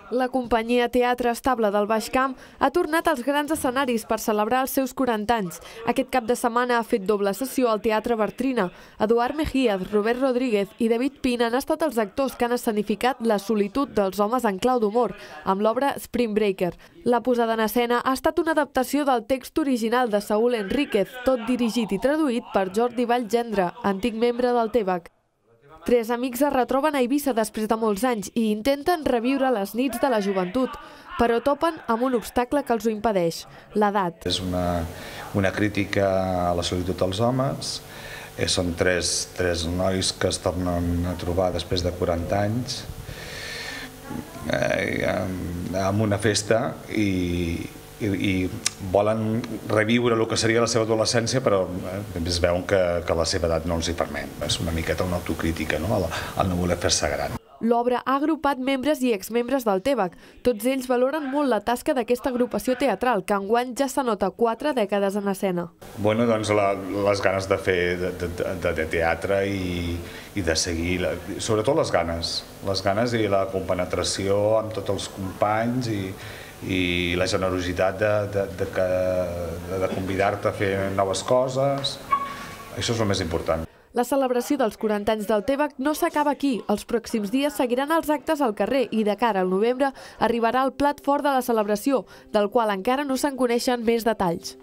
La companyia Teatre Estable del Baix Camp ha tornat als grans escenaris per celebrar els seus 40 anys. Aquest cap de setmana ha fet doble sessió al Teatre Bartrina. Eduard Mejías, Robert Rodríguez i David Pina han estat els actors que han escenificat la solitud dels homes en clau d'humor, amb l'obra Spring Breaker. La posada en escena ha estat una adaptació del text original de Saúl Enríquez, tot dirigit i traduït per Jordi Vallgendre, antic membre del TEBAC. Tres amics es retroben a Eivissa després de molts anys i intenten reviure les nits de la joventut, però topen amb un obstacle que els ho impedeix, l'edat. És una crítica a la solitud dels homes. Són tres nois que es tornen a trobar després de 40 anys en una festa i volen reviure el que seria la seva adolescència, però es veuen que la seva edat no els hi permet. És una miqueta una autocrítica, no? El no voler fer-se gran. L'obra ha agrupat membres i exmembres del TEBAC. Tots ells valoren molt la tasca d'aquesta agrupació teatral, que enguany ja s'anota 4 dècades en escena. Bueno, doncs les ganes de fer de teatre i de seguir, sobretot les ganes i la compenetració amb tots els companys i la generositat de convidar-te a fer noves coses. Això és el més important. La celebració dels 40 anys del TEBAC no s'acaba aquí. Els pròxims dies seguiran els actes al carrer i de cara al novembre arribarà el plat fort de la celebració, del qual encara no se'n coneixen més detalls.